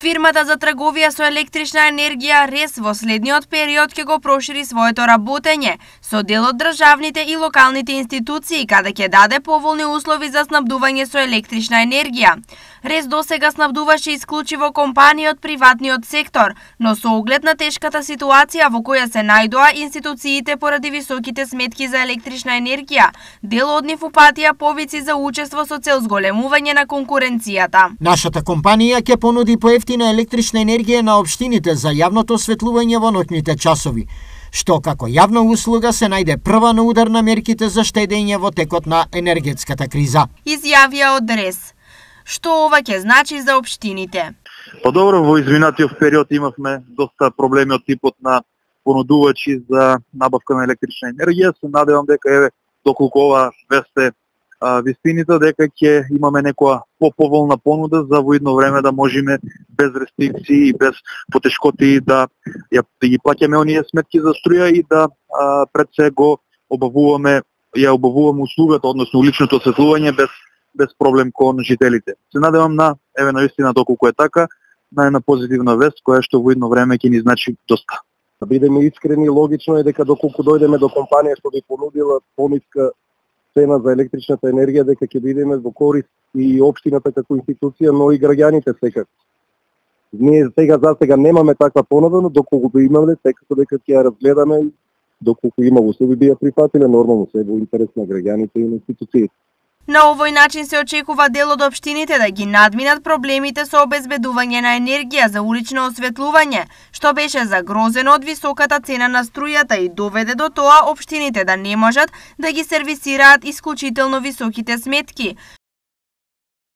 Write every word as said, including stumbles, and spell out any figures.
Фирмата за трговија со електрична енергија РЕС во следниот период ќе го прошири своето работење со дел од државните и локалните институции, каде ќе даде поволни услови за снабдување со електрична енергија. РЕС досега снабдуваше исклучиво компании од приватниот сектор, но со оглед на тешката ситуација во која се најдоа институциите поради високите сметки за електрична енергија, дел од нив упатија повици за учество со цел зголемување на конкуренцијата. Нашата компанија ќе понуди поевтина електрична енергија на општините за јавното осветлување во ноќните часови, што како јавна услуга се најде прва на удар на мерките за штедење во текот на енергетската криза. Изјавија од РЕС. Што ова ќе значи за општините? Па добро, во изминатиот период имавме доста проблеми од типот на понудувачи за набавка на електрична енергија. Се надевам дека еве доколку ова весте а, вистините, дека ќе имаме некоја поповолна понуда за во идно време да можеме без рестрикции и без потешкоти да ја да ги плаќаме оние сметки за струја и да а, пред се го обавуваме ја обавуваме услугата, односно уличното осветлување без без проблем кон жителите. Се надевам на еве навистина доколку е така, на една позитивна вест која што во идно време ќе ни значи доста. Да бидеме искрени, логично е дека доколку дојдеме до компанија што би понудила пониска цена за електричната енергија, дека ќе бидеме во корист и општината како институција, но и граѓаните секако. Ние сега за сега немаме таква понуда, но доколку би имале, секако дека ќе ја разгледаме, доколку има услови би ја прифатиле, нормално се во интерес на граѓаните и на институциите. На овој начин се очекува дел од општините да ги надминат проблемите со обезбедување на енергија за улично осветлување, што беше загрозено од високата цена на струјата и доведе до тоа општините да не можат да ги сервисираат исклучително високите сметки,